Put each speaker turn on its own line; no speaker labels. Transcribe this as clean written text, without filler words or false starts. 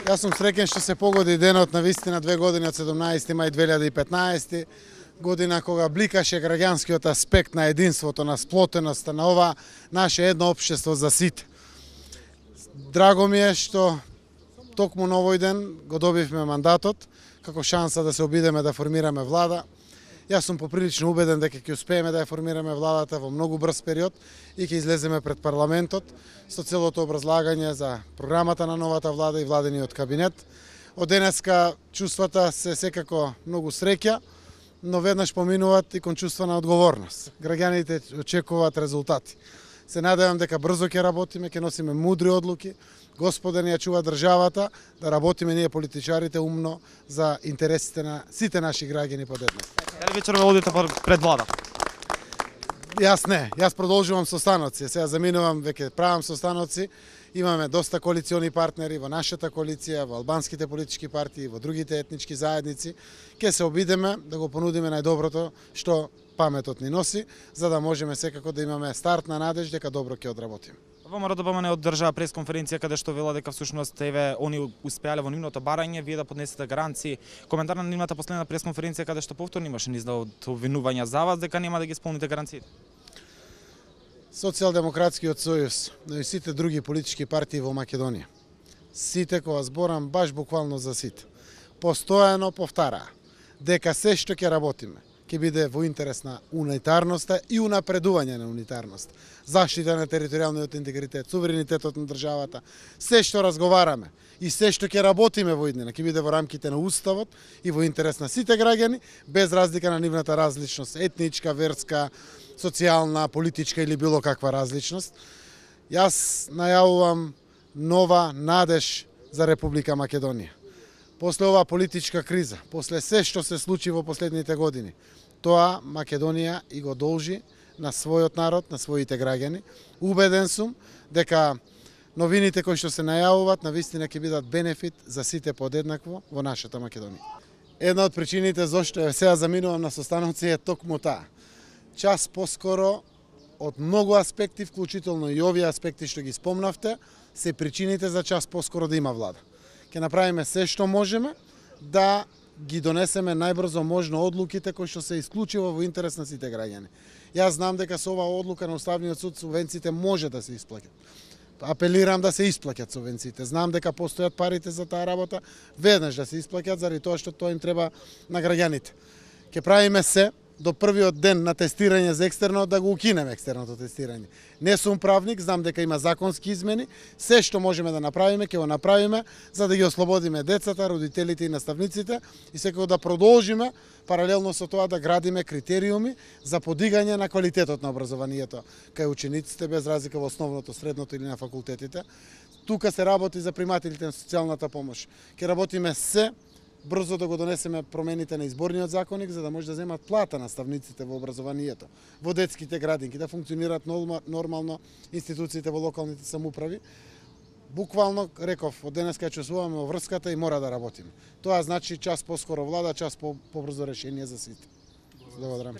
Јас сум среќен што се погоди денот на вистина 2 години од 17 мај 2015 година кога бликаше граѓанскиот аспект на единството, на сплотеноста на ова наше едно општество за сите. Драго ми е што токму на овој ден го добивме мандатот како шанса да се обидеме да формираме влада. Јас сум поприлично убеден дека ќе успееме да ја формираме владата во многу брз период и ќе излеземе пред парламентот со целото образлагање за програмата на новата влада и владениот кабинет. Од денеска чувствата се секако многу среќа, но веднаш поминуваат и кон чувства на одговорност. Граѓаните очекуваат резултати. Се надевам дека брзо ќе работиме, ќе носиме мудри одлуки, Господа ни ја чува државата, да работиме ние политичарите умно за интересите на сите наши граѓани подеднакво.
Дали вечер ве одите пред влада?
Јас не, јас продолжувам состаноци, сега заминувам, веќе правам состаноци, имаме доста коалициони партнери во нашата коалиција, во албанските политички партии, во другите етнички заедници, ќе се обидеме да го понудиме најдоброто што паметот ни носи, за да можеме секако да имаме стартна надеж дека добро ќе одработиме.
Во РДБМ не одржаа пресконференција каде што вела дека всушност еве они успеале во нивното барање, вие да поднесете гаранции. Коментар на нивната последна пресконференција каде што повторно имаше низ да обвинувања за вас дека нема да ги исполните гаранциите.
Социјалдемократскиот сојуз, но и сите други политички партии во Македонија, сите кога зборам баш буквално за сите, постојано повтараа дека се што ќе работиме ќе биде во интерес на унитарноста и унапредување на унитарност, заштита на територијалниот интегритет, суверенитетот на државата. Се што разговараме и се што ќе работиме во иднина ќе биде во рамките на уставот и во интерес на сите граѓани, без разлика на нивната различност, етничка, верска, социјална, политичка или било каква различност. Јас најавувам нова надеж за Република Македонија. После оваа политичка криза, после се што се случи во последните години, тоа Македонија и го должи на својот народ, на своите граѓани. Убеден сум дека новините кои што се најавуваат навистина ќе бидат бенефит за сите подеднакво во нашата Македонија. Една од причините зашто сега заминувам на состаноци е токму таа. Час поскоро од многу аспекти, вклучително и овие аспекти што ги спомнавте, се причините за час поскоро да има влада. Ќе направиме се што можеме да ги донесеме најбрзо можно одлуките кои што се исклучиво во интерес на сите граѓани. Јас знам дека со оваа одлука на Уставниот суд субвенциите може да се исплаќат. Апелирам да се исплаќат субвенциите. Знам дека постојат парите за таа работа, веднаш да се исплаќат заради тоа што тоа им треба на граѓаните. Ќе правиме се до првиот ден на тестирање за екстерно да го укинеме екстерното тестирање. Не сум правник, знам дека има законски измени, се што можеме да направиме, ќе го направиме за да ги ослободиме децата, родителите и наставниците и секако да продолжиме паралелно со тоа да градиме критериуми за подигање на квалитетот на образованието кај учениците без разлика во основното, средното или на факултетите. Тука се работи за примателите на социјалната помош. Ќе работиме се брзо да го донесеме промените на изборниот законник за да може да земат плата наставниците во образованието, во детските градинки, да функционираат нормално институциите во локалните самоуправи. Буквално, реков, од денеска ќе чувствуваме во врската и мора да работиме. Тоа значи час поскоро влада, час побрзо решение за сите. Благодарам.